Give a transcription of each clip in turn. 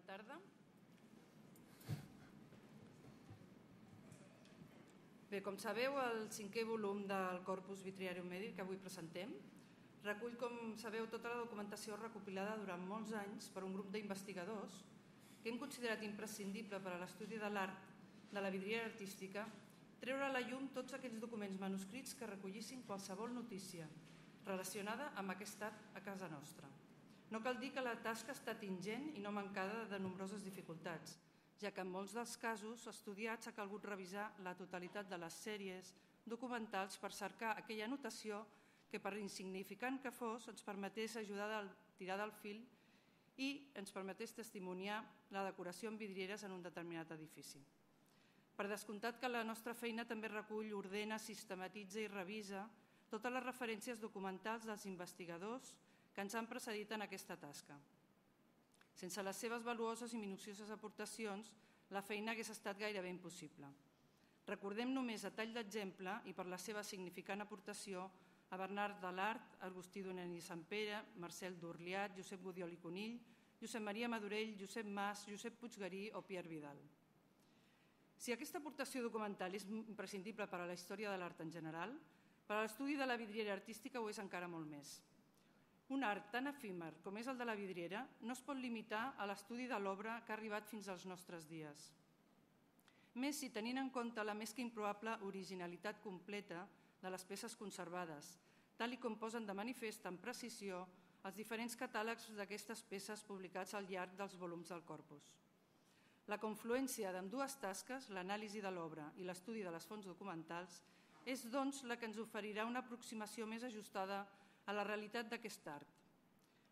tarda. Bé, com sabeu, el 5è volum del Corpus Vitriarium Medi que avui presentem recull, com sabeu, tota la documentació recopilada durant molts anys per un grup d'investigadors que hem considerat imprescindible per a l'estudi de l'art de la vidriera artística treure a la llum tots aquells documents manuscrits que recollissin qualsevol notícia relacionada amb aquest art a casa nostra. No cal dir que la tasca ha estat ingent i no mancada de nombroses dificultats, ja que en molts dels casos estudiats ha calgut revisar la totalitat de les sèries documentals per cercar aquella notació que, per insignificant que fos, ens permetés ajudar a tirar del fil i ens permetés testimoniar la decoració en vidrieres en un determinat edifici. Per descomptat que la nostra feina també recull, ordena, sistematitza i revisa totes les referències documentals dels investigadors que ens han precedit en aquesta tasca. Sense les seves valuoses i minucioses aportacions, la feina hagués estat gairebé impossible. Recordem només a tall d'exemple i per la seva significant aportació a Bernard Delart, Agustí Donent i Sampere, Marcel Durliat, Josep Gudiol i Conill, Josep Maria Madurell, Josep Mas, Josep Puiggarí o Pierre Vidal. Si aquesta aportació documental és imprescindible per a la història de l'art en general, per a l'estudi de la vidriera artística ho és encara molt més. Un art tan efímer com és el de la vidriera no es pot limitar a l'estudi de l'obra que ha arribat fins als nostres dies. Més si tenint en compte la més que improbable originalitat completa de les peces conservades, tal i com posen de manifest amb precisió els diferents catàlegs d'aquestes peces publicats al llarg dels volums del corpus. La confluència d'ambdues tasques, l'anàlisi de l'obra i l'estudi de les fonts documentals, és doncs la que ens oferirà una aproximació més ajustada a la realitat d'aquest art.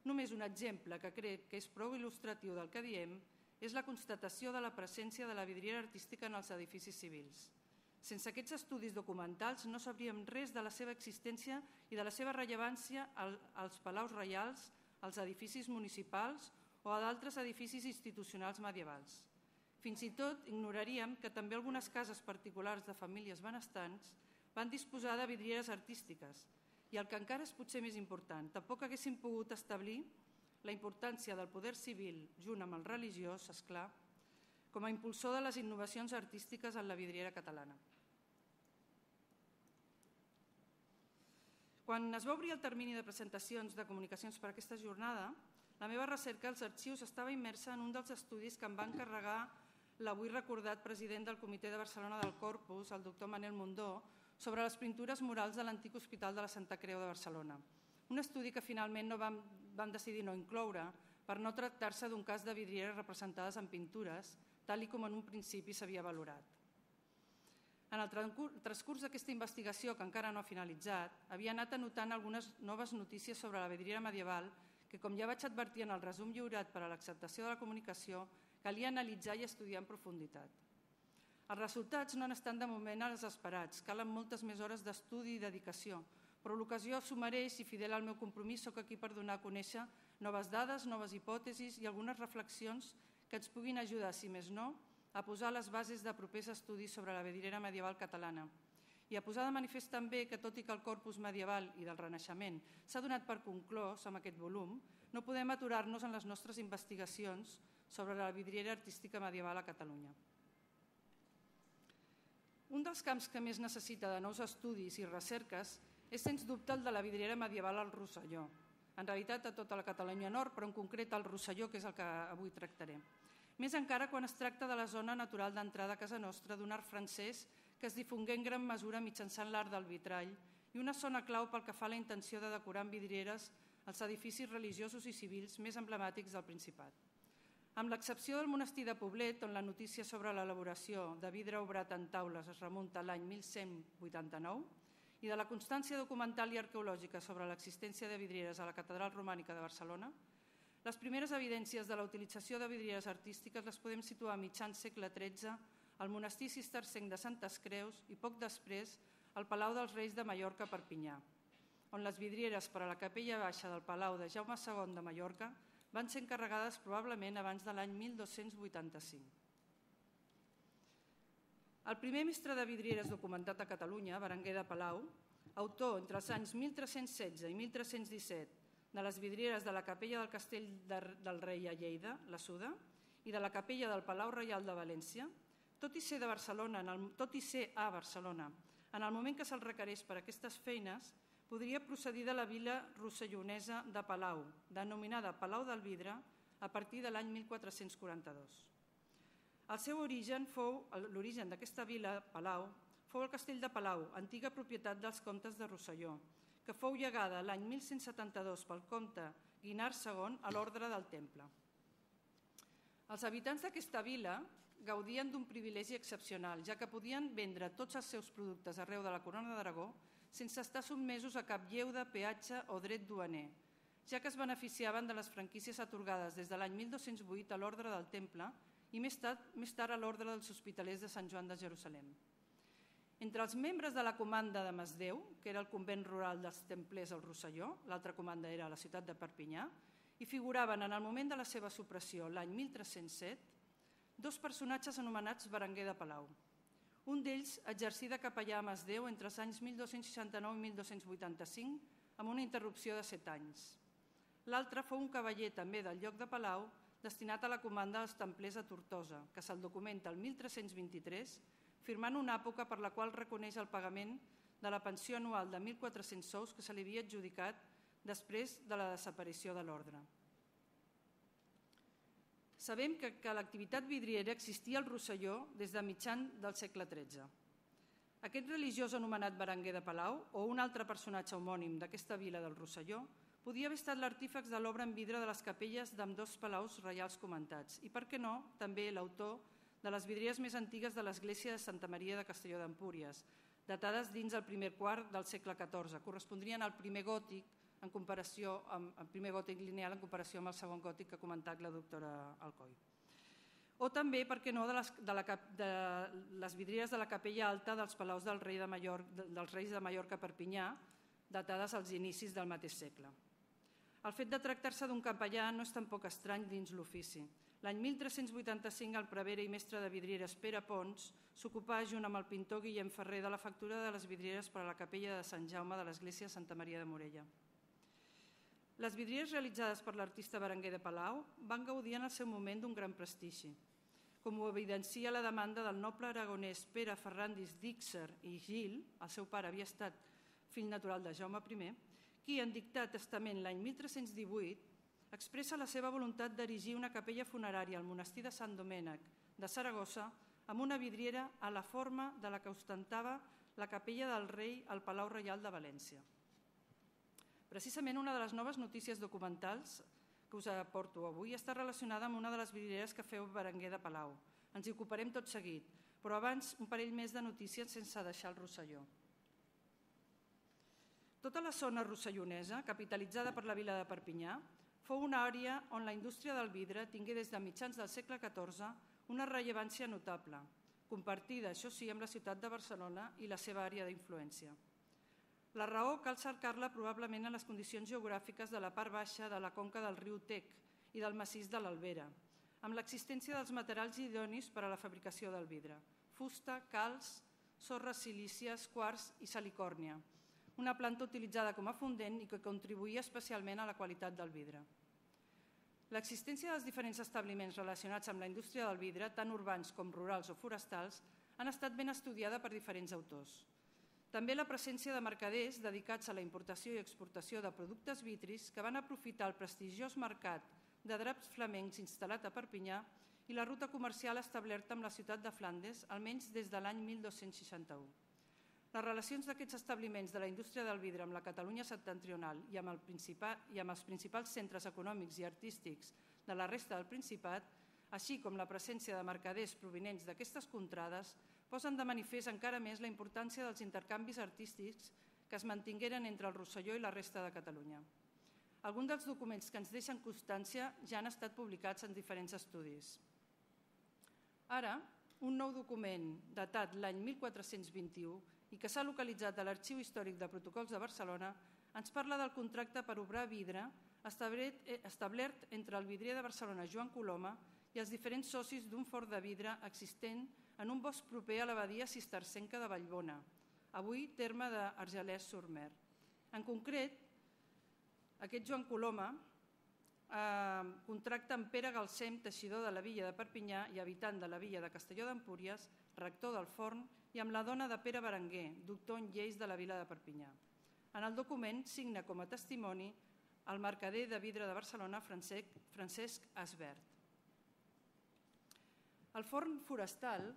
Només un exemple que crec que és prou il·lustratiu del que diem és la constatació de la presència de la vidriera artística en els edificis civils. Sense aquests estudis documentals no sabríem res de la seva existència i de la seva rellevància als palaus reials, als edificis municipals o a d'altres edificis institucionals medievals. Fins i tot ignoraríem que també algunes cases particulars de famílies benestants van disposar de vidrieres artístiques i el que encara és potser més important, tampoc haguéssim pogut establir la importància del poder civil, junt amb el religiós, esclar, com a impulsor de les innovacions artístiques en la vidriera catalana. Quan es va obrir el termini de presentacions de comunicacions per a aquesta jornada, la meva recerca als arxius estava immersa en un dels estudis que em va encarregar l'avui recordat president del Comitè de Barcelona del Corpus, el doctor Manel Mundó, sobre les pintures murals de l'antic Hospital de la Santa Creu de Barcelona. Un estudi que finalment vam decidir no incloure per no tractar-se d'un cas de vidrieres representades en pintures, tal com en un principi s'havia valorat. En el transcurs d'aquesta investigació, que encara no ha finalitzat, havia anat anotant algunes noves notícies sobre la vidriera medieval que, com ja vaig advertir en el resum lliurat per a l'acceptació de la comunicació, calia analitzar i estudiar en profunditat. Els resultats no han estat de moment els esperats, calen moltes més hores d'estudi i dedicació, però l'ocasió s'ho mereix i, fidel al meu compromís, soc aquí per donar a conèixer noves dades, noves hipòtesis i algunes reflexions que ens puguin ajudar, si més no, a posar les bases de propers estudis sobre la vidriera medieval catalana i a posar de manifest també que, tot i que el corpus medieval i del Renaixement s'ha donat per conclòs amb aquest volum, no podem aturar-nos en les nostres investigacions sobre la vidriera artística medieval a Catalunya. Un dels camps que més necessita de nous estudis i recerques és, sens dubte, el de la vidriera medieval al Rosselló. En realitat, a tota la Catalunya Nord, però en concret al Rosselló, que és el que avui tractaré. Més encara quan es tracta de la zona natural d'entrada a casa nostra d'un art francès que es difongué en gran mesura mitjançant l'art del vitrall i una zona clau pel que fa a la intenció de decorar amb vidrieres els edificis religiosos i civils més emblemàtics del Principat. Amb l'excepció del monestir de Poblet, on la notícia sobre l'elaboració de vidre obrat en taules es remunta a l'any 1189, i de la constància documental i arqueològica sobre l'existència de vidrieres a la Catedral Romànica de Barcelona, les primeres evidències de la utilització de vidrieres artístiques les podem situar a mitjans segle XIII al monestir cistercenc de Santes Creus i poc després al Palau dels Reis de Mallorca a Perpinyà, on les vidrieres per a la capella baixa del Palau de Jaume II de Mallorca van ser encarregades probablement abans de l'any 1285. El primer mestre de vidrieres documentat a Catalunya, Berenguer de Palau, autor entre els anys 1316 i 1317 de les vidrieres de la capella del Castell del Rei a Lleida, la Suda, i de la capella del Palau Reial de València, tot i ser a Barcelona, en el moment que se'l requereix per aquestes feines, podria procedir de la vila rossellonesa de Palau, denominada Palau del Vidre, a partir de l'any 1442. L'origen d'aquesta vila, Palau, fou el castell de Palau, antiga propietat dels comtes de Rosselló, que fou llegada l'any 1172 pel comte Guinart II a l'Orde del Temple. Els habitants d'aquesta vila gaudien d'un privilegi excepcional, ja que podien vendre tots els seus productes arreu de la Corona d'Aragó sense estar sotmesos a cap lleuda, peatge o dret duaner, ja que es beneficiaven de les franquícies atorgades des de l'any 1208 a l'Orde del Temple i més tard a l'Orde dels Hospitalers de Sant Joan de Jerusalem. Entre els membres de la comanda de Masdeu, que era el convent rural dels templers al Rosselló, l'altra comanda era a la ciutat de Perpinyà, hi figuraven en el moment de la seva supressió, l'any 1307, dos personatges anomenats Berenguer de Palau. Un d'ells exercí de capellà a Masdeu entre els anys 1269 i 1285, amb una interrupció de 7 anys. L'altre fou un cavaller també del lloc de Palau, destinat a la comanda dels templers a Tortosa, que se'l documenta el 1323, firmant una època per la qual reconeix el pagament de la pensió anual de 1.400 sous que se li havia adjudicat després de la desaparició de l'ordre. Sabem que l'activitat vidriera existia al Rosselló des de mitjan del segle XIII. Aquest religiós anomenat Berenguer de Palau, o un altre personatge homònim d'aquesta vila del Rosselló, podia haver estat l'artífex de l'obra en vidre de les capelles d'ambdós palaus reials comentats i, per què no, també l'autor de les vidrieres més antigues de l'església de Santa Maria de Castelló d'Empúries, datades dins el primer quart del segle XIV, correspondrien al primer gòtic en comparació amb el primer gòtic lineal en comparació amb el segon gòtic que ha comentat la doctora Alcoi. O també, per què no, de les vidrieres de la capella alta dels palaus dels reis de Mallorca a Perpinyà, datades als inicis del mateix segle. El fet de tractar-se d'un capellà no és tampoc estrany dins l'ofici. L'any 1385 el prevere i mestre de vidrieres Pere Pons s'ocupà junt amb el pintor Guillem Ferrer de la factura de les vidrieres per a la capella de Sant Jaume de l'església de Santa Maria de Morella. Les vidrieres realitzades per l'artista Berenguer de Palau van gaudir en el seu moment d'un gran prestigi, com ho evidencia la demanda del noble aragonès Pere Ferrandis d'Íxer i Gil, el seu pare havia estat fill natural de Jaume I, qui, en dictar testament l'any 1318, expressa la seva voluntat d'erigir una capella funerària al monestir de Sant Domènec de Saragossa amb una vidriera a la forma de la que ostentava la capella del rei al Palau Reial de València. Precisament una de les noves notícies documentals que us aporto avui està relacionada amb una de les vidrieres que feu Berenguer de Palau. Ens hi ocuparem tot seguit, però abans un parell més de notícies sense deixar el Rosselló. Tota la zona rossellonesa, capitalitzada per la vila de Perpinyà, fou una àrea on la indústria del vidre tingué des de mitjans del segle XIV una rellevància notable, compartida, això sí, amb la ciutat de Barcelona i la seva àrea d'influència. La raó cal cercar-la probablement en les condicions geogràfiques de la part baixa de la conca del riu Tec i del massís de l'Albera, amb l'existència dels materials idonis per a la fabricació del vidre: fusta, calç, sorres silícies, quars i salicòrnia, una planta utilitzada com a fondent i que contribuïa especialment a la qualitat del vidre. L'existència dels diferents establiments relacionats amb la indústria del vidre, tant urbans com rurals o forestals, han estat ben estudiada per diferents autors. També la presència de mercaders dedicats a la importació i exportació de productes vitris que van aprofitar el prestigiós mercat de draps flamencs instal·lat a Perpinyà i la ruta comercial establerta amb la ciutat de Flandes, almenys des de l'any 1261. Les relacions d'aquests establiments de la indústria del vidre amb la Catalunya septentrional i amb els principals centres econòmics i artístics de la resta del Principat, així com la presència de mercaders provinents d'aquestes contrades, posen de manifest encara més la importància dels intercanvis artístics que es mantingueren entre el Rosselló i la resta de Catalunya. Alguns dels documents que ens deixen constància ja han estat publicats en diferents estudis. Ara, un nou document datat l'any 1421 i que s'ha localitzat a l'Arxiu Històric de Protocols de Barcelona ens parla del contracte per obrar vidre establert entre el vidrier de Barcelona Joan Coloma i els diferents socis d'un forn de vidre existent en un bosc proper a l'abadia cistercenca de Vallbona, avui terme d'Argelès-sur-Mer. En concret, aquest Joan Coloma contracta amb Pere Galcem, teixidor de la villa de Perpinyà i habitant de la villa de Castelló d'Empúries, rector del Forn, i amb la dona de Pere Berenguer, doctor en lleis de la vila de Perpinyà. En el document signa com a testimoni el mercader de vidre de Barcelona, Francesc Asbert. El forn forestal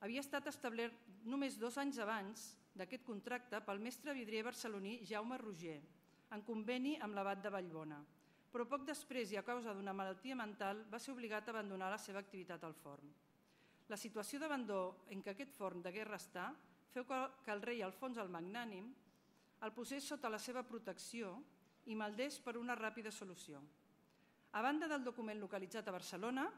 havia estat establert només 2 anys abans d'aquest contracte pel mestre vidrier barceloní Jaume Roger, en conveni amb l'abat de Vallbona, però poc després i a causa d'una malaltia mental va ser obligat a abandonar la seva activitat al forn. La situació d'abandó en què aquest forn degué restar feu que el rei Alfons el Magnànim el posés sota la seva protecció i maldés per una ràpida solució. A banda del document localitzat a Barcelona,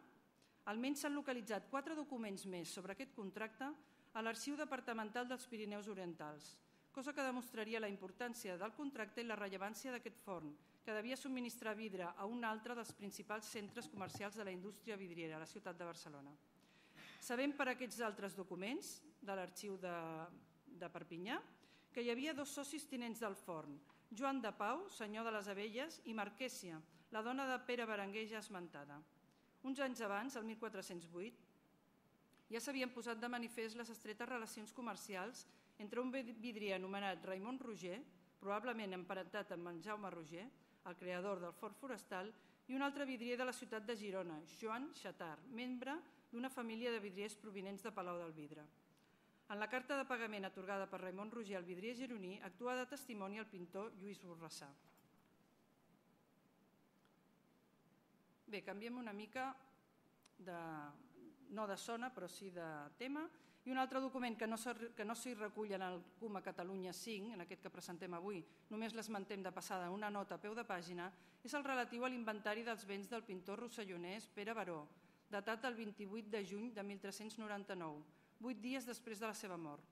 almenys s'han localitzat 4 documents més sobre aquest contracte a l'Arxiu Departamental dels Pirineus Orientals, cosa que demostraria la importància del contracte i la rellevància d'aquest forn, que devia subministrar vidre a un altre dels principals centres comercials de la indústria vidriera, a la ciutat de Barcelona. Sabem per aquests altres documents de l'Arxiu de Perpinyà que hi havia 2 socis tinents del forn, Joan de Pau, senyor de les Abelles, i Marquèsia, la dona de Pere Berenguer ja esmentada. Uns anys abans, el 1408, ja s'havien posat de manifest les estretes relacions comercials entre un vidrier anomenat Raimon Roger, probablement emparentat amb en Jaume Roger, el creador del forn forestal, i un altre vidrier de la ciutat de Girona, Joan Xatart, membre d'una família de vidriers provinents de Palau del Vidre. En la carta de pagament atorgada per Raimon Roger al vidrier gironí actua de testimoni el pintor Lluís Borrassà. Bé, canviem una mica, no de zona, però sí de tema. I un altre document que no s'hi recull en el CUMA Catalunya 5, en aquest que presentem avui, només l'esmentem de passada una nota a peu de pàgina, és el relatiu a l'inventari dels béns del pintor rossellonès Pere Baró, datat el 28 de juny de 1399, 8 dies després de la seva mort.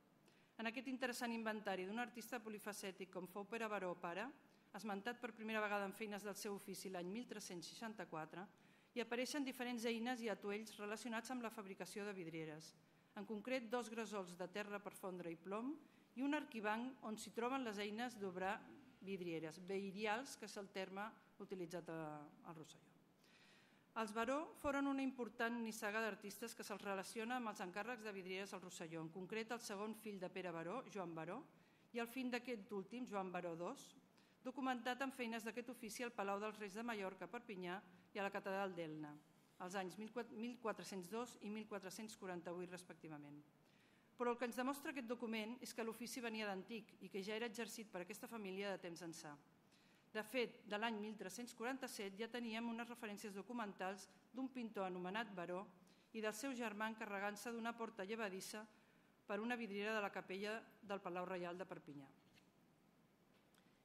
En aquest interessant inventari d'un artista polifacètic com fou Pere Baró pare, esmentat per primera vegada en feines del seu ofici l'any 1364, hi apareixen diferents eines i atuells relacionats amb la fabricació de vidrieres, en concret 2 gresols de terra per fondre i plom i un arquibanc on s'hi troben les eines d'obrar vidrieres, veïrials, que és el terme utilitzat al Rosselló. Els Baró foren una important nissaga d'artistes que se'ls relaciona amb els encàrrecs de vidrieres al Rosselló, en concret el segon fill de Pere Baró, Joan Baró, i el fill d'aquest últim, Joan Baró II, documentat en feines d'aquest ofici al Palau dels Reis de Mallorca, a Perpinyà, i a la Catedral d'Elna, als anys 1402 i 1448 respectivament. Però el que ens demostra aquest document és que l'ofici venia d'antic i que ja era exercit per aquesta família de temps ençà. De fet, de l'any 1347 ja teníem unes referències documentals d'un pintor anomenat Baró i del seu germà encarregant-se d'una porta llevadissa per una vidriera de la capella del Palau Reial de Perpinyà.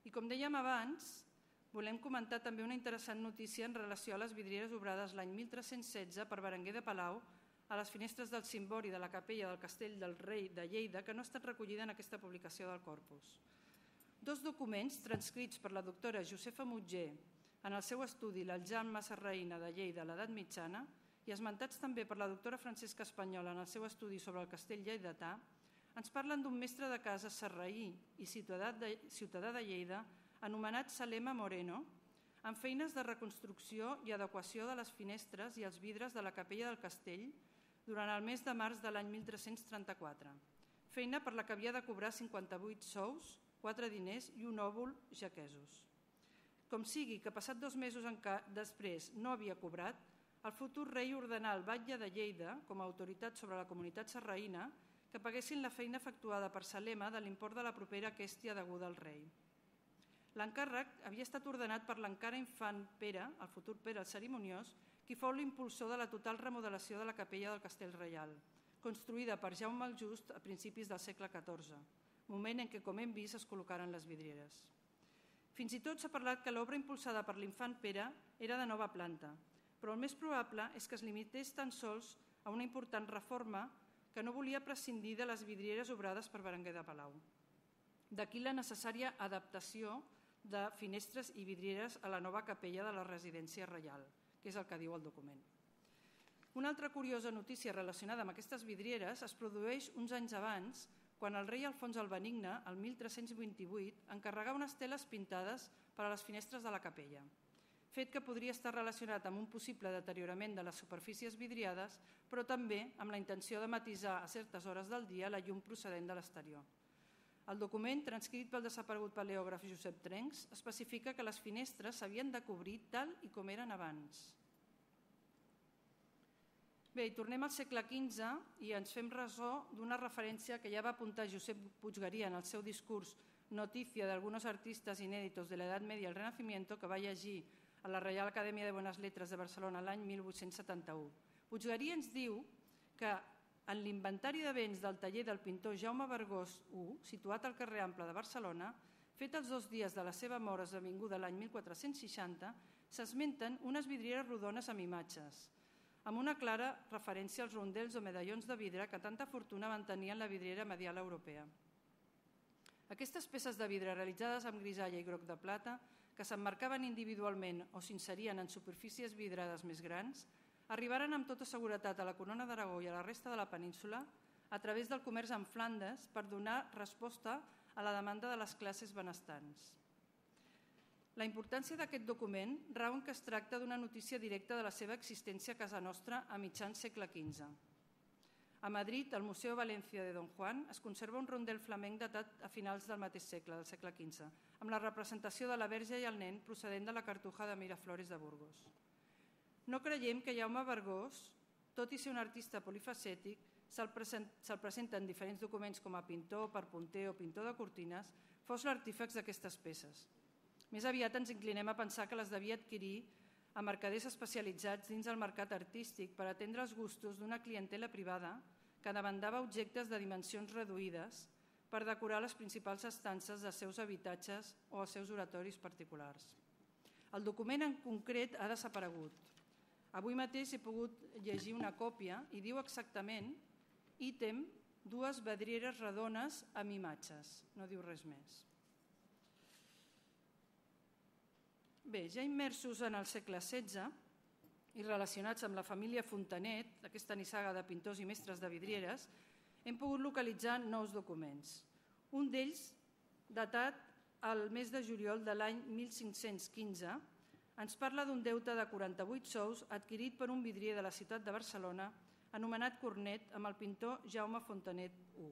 I com dèiem abans, volem comentar també una interessant notícia en relació a les vidrieres obrades l'any 1316 per Berenguer de Palau a les finestres del cimbori de la capella del Castell del Rei de Lleida, que no ha estat recollida en aquesta publicació del Corpus. 2 documents transcrits per la doctora Josefa Mutger en el seu estudi l'Aljama Sarraïna de Lleida a l'edat mitjana i esmentats també per la doctora Francesca Espanyola en el seu estudi sobre el castell lleidatà, ens parlen d'un mestre de casa sarraí i ciutadà de Lleida anomenat Salema Moreno, amb feines de reconstrucció i adequació de les finestres i els vidres de la capella del castell durant el mes de març de l'any 1334, feina per la que havia de cobrar 58 sous, 4 diners i un òbol jaquesos. Com sigui que passat 2 mesos després no havia cobrat, el futur rei ordenà al batlle de Lleida, com a autoritat sobre la comunitat sarraïna, que paguessin la feina efectuada per Salema de l'import de la propera quèstia deguda al rei. L'encàrrec havia estat ordenat per l'encara infant Pere, el futur Pere el Cerimoniós, qui fou l'impulsor de la total remodelació de la capella del Castell Reial, construïda per Jaume el Just a principis del segle XIV, moment en què, com hem vist, es col·locaren les vidrieres. Fins i tot s'ha parlat que l'obra impulsada per l'infant Pere era de nova planta, però el més probable és que es limités tan sols a una important reforma que no volia prescindir de les vidrieres obrades per Berenguer de Palau. D'aquí la necessària adaptació de finestres i vidrieres a la nova capella de la residència reial, que és el que diu el document. Una altra curiosa notícia relacionada amb aquestes vidrieres es produeix uns anys abans, quan el rei Alfons el Benigne, el 1328, encarregà unes teles pintades per a les finestres de la capella. fet que podria estar relacionat amb un possible deteriorament de les superfícies vidriades, però també amb la intenció de matisar a certes hores del dia la llum procedent de l'exterior. El document, transcrit pel desaparegut paleògraf Josep Trencs, especifica que les finestres s'havien de cobrir tal i com eren abans. Bé, i tornem al segle XV i ens fem ressò d'una referència que ja va apuntar Josep Puiggaria en el seu discurs Noticia de algunos artistas inéditos de la Edad Media al Renacimiento, que va llegir a la Reial Acadèmia de Bones Lletres de Barcelona l'any 1871. Puiggaria ens diu que en l'inventari de béns del taller del pintor Jaume Bergós I, situat al carrer Ample de Barcelona, fet els 2 dies de la seva mort esdevinguda l'any 1460, s'esmenten unes vidrieres rodones amb imatges, amb una clara referència als rondels o medallons de vidre que tanta fortuna van tenir en la vidriera medial europea. Aquestes peces de vidre realitzades amb grisalla i groc de plata, que s'emmarcaven individualment o s'inserien en superfícies vidrades més grans, arribaren amb tota seguretat a la Corona d'Aragó i a la resta de la península a través del comerç amb Flandes per donar resposta a la demanda de les classes benestants. La importància d'aquest document rau en que es tracta d'una notícia directa de la seva existència a casa nostra a mitjans segle XV. A Madrid, al Museu Valencia de Don Juan, es conserva un rondel flamenc datat a finals del mateix segle, del segle XV, amb la representació de la Verge i el nen procedent de la Cartuja de Miraflores de Burgos. No creiem que Jaume Bergós, tot i ser un artista polifacètic, se'l presenta en diferents documents com a pintor, perpunter o pintor de cortines, fos l'artífex d'aquestes peces. Més aviat ens inclinem a pensar que les devia adquirir a mercaders especialitzats dins el mercat artístic per atendre els gustos d'una clientela privada que demandava objectes de dimensions reduïdes per decorar les principals estances dels seus habitatges o els seus oratoris particulars. El document en concret ha desaparegut. Avui mateix he pogut llegir una còpia i diu exactament ítem 2 vidrieres redones amb imatges, no diu res més. Bé, ja immersos en el segle XVI i relacionats amb la família Fontanet, aquesta nissaga de pintors i mestres de vidrieres, hem pogut localitzar nous documents. Un d'ells, datat al mes de juliol de l'any 1515, ens parla d'un deute de 48 sous adquirit per un vidrier de la ciutat de Barcelona anomenat Cornet amb el pintor Jaume Fontanet I.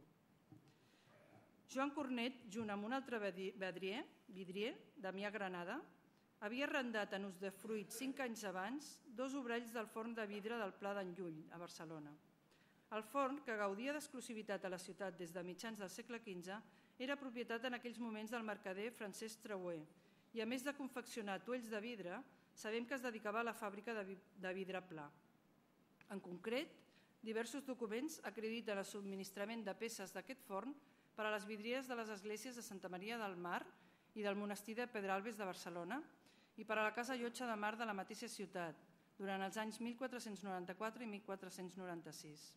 Joan Cornet, junt amb un altre vidrier, Damià Granada, havia arrendat en usdefruit 5 anys abans 2 obrells del forn de vidre del Pla d'en Llull, a Barcelona. El forn, que gaudia d'exclusivitat a la ciutat des de mitjans del segle XV, era propietat en aquells moments del mercader Francesc Trauer i, a més de confeccionar tuells de vidre, sabem que es dedicava a la fàbrica de vidre pla. En concret, diversos documents acrediten el subministrament de peces d'aquest forn per a les vidrieres de les esglésies de Santa Maria del Mar i del monestir de Pedralbes de Barcelona i per a la Casa Llotja de Mar de la mateixa ciutat, durant els anys 1494 i 1496.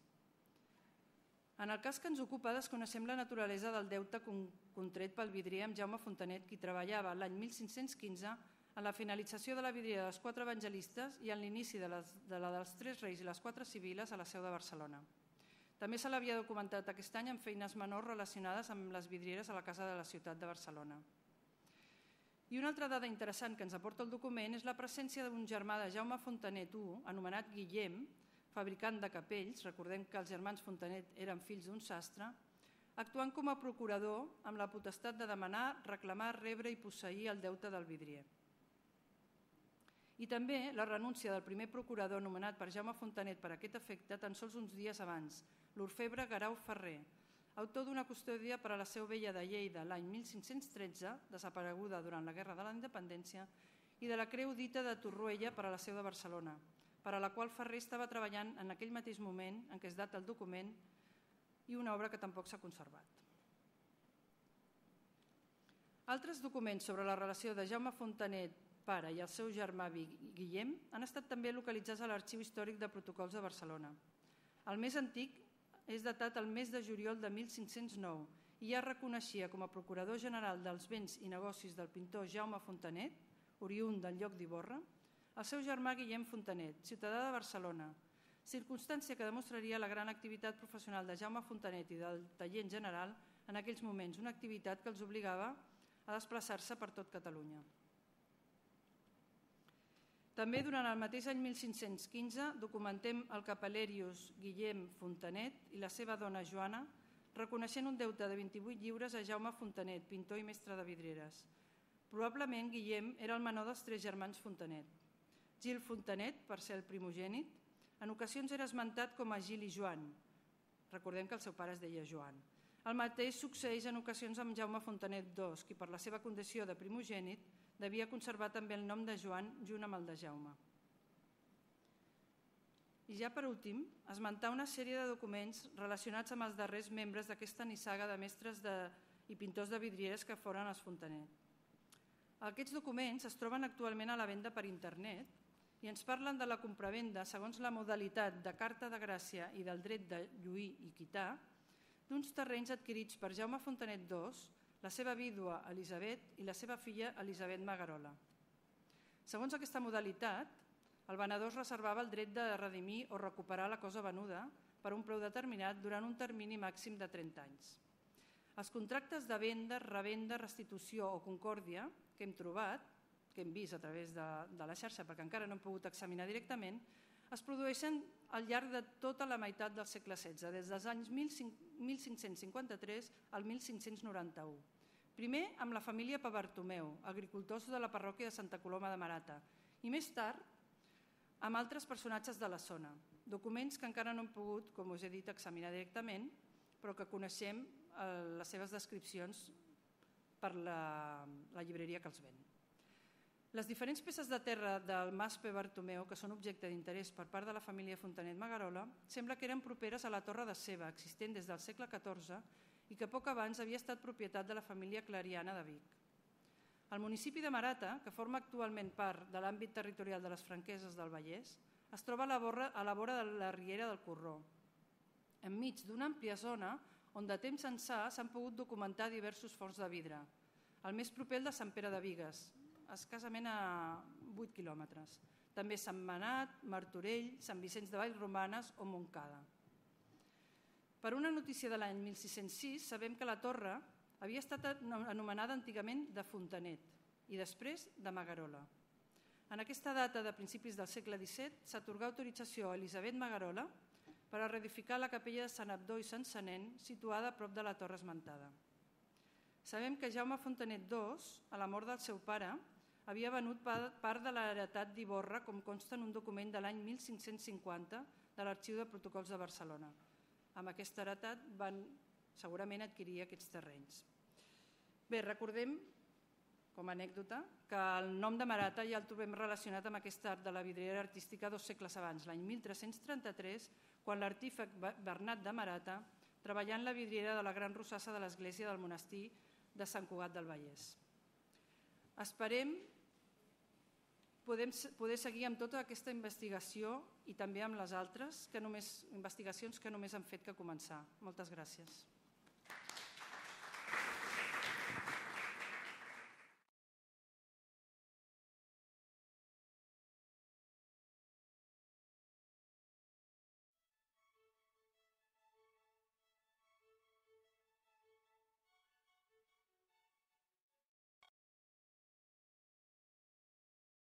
En el cas que ens ocupa, desconeixem la naturalesa del deute contret pel vidrier amb Jaume Fontanet, qui treballava l'any 1515 en la finalització de la vidriera dels 4 evangelistes i en l'inici de la dels 3 reis i les 4 civiles a la seu de Barcelona. També se l'havia documentat aquest any amb feines menors relacionades amb les vidrieres a la Casa de la Ciutat de Barcelona. I una altra dada interessant que ens aporta el document és la presència d'un germà de Jaume Fontanet I, anomenat Guillem, fabricant de capells, recordem que els germans Fontanet eren fills d'un sastre, actuant com a procurador amb la potestat de demanar, reclamar, rebre i posseir el deute del vidrier. I també la renúncia del primer procurador nomenat per Jaume Fontanet per aquest efecte tan sols uns dies abans, l'orfebre Guerau Ferrer, autor d'una custòdia per a la Seu Vella de Lleida l'any 1513, desapareguda durant la Guerra de la Independència, i de la Creu Dita de Torroella per a la Seu de Barcelona, per a la qual Ferrer estava treballant en aquell mateix moment en què es data el document i una obra que tampoc s'ha conservat. Altres documents sobre la relació de Jaume Fontanet, pare, i el seu germà Guillem han estat també localitzats a l'Arxiu Històric de Protocols de Barcelona. El més antic és datat el mes de juliol de 1509 i ja reconeixia com a procurador general dels béns i negocis del pintor Jaume Fontanet, oriünd del lloc d'Ivorra, el seu germà Guillem Fontanet, ciutadà de Barcelona, circumstància que demostraria la gran activitat professional de Jaume Fontanet i del taller en general en aquells moments, una activitat que els obligava a desplaçar-se per tot Catalunya. També durant el mateix any 1515 documentem el capellerius Guillem Fontanet i la seva dona Joana, reconeixent un deute de 28 lliures a Jaume Fontanet, pintor i mestre de vidrieres. Probablement Guillem era el menor dels 3 germans Fontanet. Gil Fontanet, per ser el primogènit, en ocasions era esmentat com a Gil i Joan. Recordem que el seu pare es deia Joan. El mateix succeeix en ocasions amb Jaume Fontanet II, qui per la seva condició de primogènit devia conservar també el nom de Joan junt amb el de Jaume. I ja per últim, esmentar una sèrie de documents relacionats amb els darrers membres d'aquesta nissaga de mestres i pintors de vidrieres que foren els Fontanet. Aquests documents es troben actualment a la venda per internet i ens parlen de la compravenda segons la modalitat de carta de gràcia i del dret de lluir i quitar d'uns terrenys adquirits per Jaume Fontanet II, la seva vídua Elisabet i la seva filla Elisabet Magarola. Segons aquesta modalitat, el venedor es reservava el dret de redimir o recuperar la cosa venuda per un preu determinat durant un termini màxim de 30 anys. Els contractes de venda, revenda, restitució o concòrdia que hem trobat, que hem vist a través de la xarxa perquè encara no hem pogut examinar directament, es produeixen al llarg de tota la meitat del segle XVI, des dels anys 1553 al 1591. Primer amb la família Pabartomeu, agricultors de la parròquia de Santa Coloma de Marata, i més tard amb altres personatges de la zona, documents que encara no hem pogut, com us he dit, examinar directament, però que coneixem les seves descripcions per la llibreria que els ven. Les diferents peces de terra del Mas Pabartomeu, que són objecte d'interès per part de la família Fontanet Magarola, sembla que eren properes a la Torre de Ceba, existent des del segle XIV i que poc abans havia estat propietat de la família Clariana de Vic. El municipi de Marata, que forma actualment part de l'àmbit territorial de les Franqueses del Vallès, es troba a la vora de la riera del Corró, enmig d'una àmplia zona on de temps ençà s'han pogut documentar diversos forns de vidre. El més proper el de Sant Pere de Bigues, escassament a 8 quilòmetres. També Sant Manat, Martorell, Sant Vicenç de Vallromanes o Montcada. Per una notícia de l'any 1606 sabem que la torre havia estat anomenada antigament de Fontanet i després de Magarola. En aquesta data de principis del segle XVII s'atorgà autorització a Elisabet Magarola per a reedificar la capella de Sant Abdó i Sant Senent situada a prop de la torre esmentada. Sabem que Jaume Fontanet II, a la mort del seu pare, havia venut part de l'heretat d'Ivorra, com consta en un document de l'any 1550 de l'Arxiu de Protocols de Barcelona. Amb aquesta heretat van segurament adquirir aquests terrenys. Bé, recordem, com a anècdota, que el nom de Marata ja el trobem relacionat amb aquest art de la vidriera artística 2 segles abans, l'any 1333, quan l'artífex Bernat de Marata treballà en la vidriera de la Gran Rosassa de l'església del monestir de Sant Cugat del Vallès. Esperem poder seguir amb tota aquesta investigació i també amb les altres investigacions que només han fet que començar. Moltes gràcies.